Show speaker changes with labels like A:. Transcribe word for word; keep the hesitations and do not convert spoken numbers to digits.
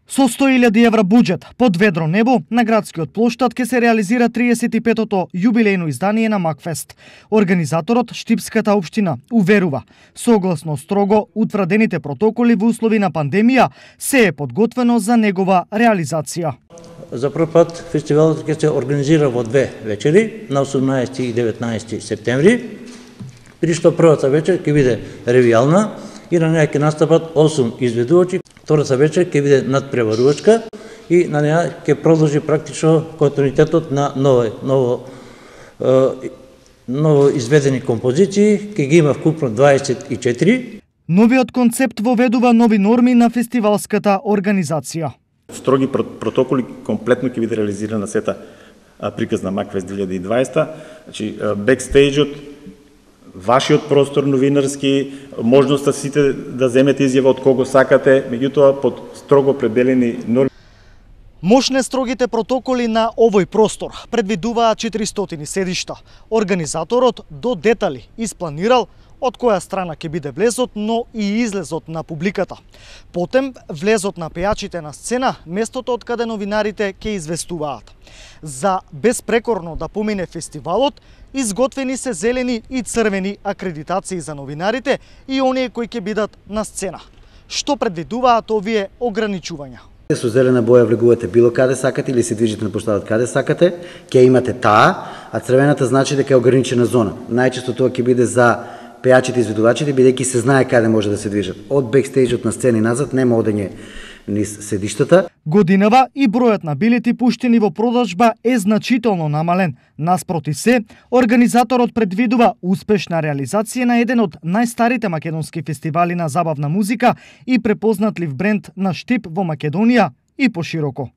A: Со сто илјади евра буџет под ведро небо на градскиот плоштад ќе се реализира триесет и петото јубилејно издание на Макфест. Организаторот Штипската општина уверува, согласно строго утврдените протоколи во услови на пандемија, се е подготвено за негова реализација.
B: За прв пат фестивалот ќе се организира во две вечери, на осумнаесети и деветнаесети септември, при што првата вечер ќе биде ревијална и на неја ќе настапат осум изведувачи. Втората вечер ќе биде надпреварувачка и на неја ќе продолжи практично континуитетот на ново, ново, е, ново изведени композиции, ќе ги има вкупно дваесет и четири.
A: Новиот концепт воведува нови норми на фестивалската организација.
C: Строги протоколи комплетно ќе биде реализирана сета приказ на Макфест две илјади и дваесета. Значи, бекстејџот, вашиот простор новинарски, можноста сите да земете изјава од кого сакате, меѓутоа под строго определени норми.
A: Мощне строгите протоколи на овој простор предвидуваат четиристотини седишта. Организаторот до детали испланирал од која страна ќе биде влезот, но и излезот на публиката. Потем влезот на пејачите на сцена, местото од каде новинарите ќе известуваат. За безпрекорно да помине фестивалот, изготвени се зелени и црвени акредитации за новинарите и оние кои ќе бидат на сцена. Што предвидуваат овие ограничувања?
D: Со зелена боја влегувате било каде сакате или се движите на плоштадот каде сакате, ќе имате таа, а црвената значи дека е ограничена зона. Најчесто тоа ќе биде за пејачите и изведувачите, бидејќи се знае каде може да се движат. Од бекстејџот на сцена и назад нема одење низ седиштата.
A: Годинава и бројот на билети пуштени во продажба е значително намален. Наспроти се, организаторот предвидува успешна реализација на еден од најстарите македонски фестивали на забавна музика и препознатлив бренд на Штип во Македонија и пошироко.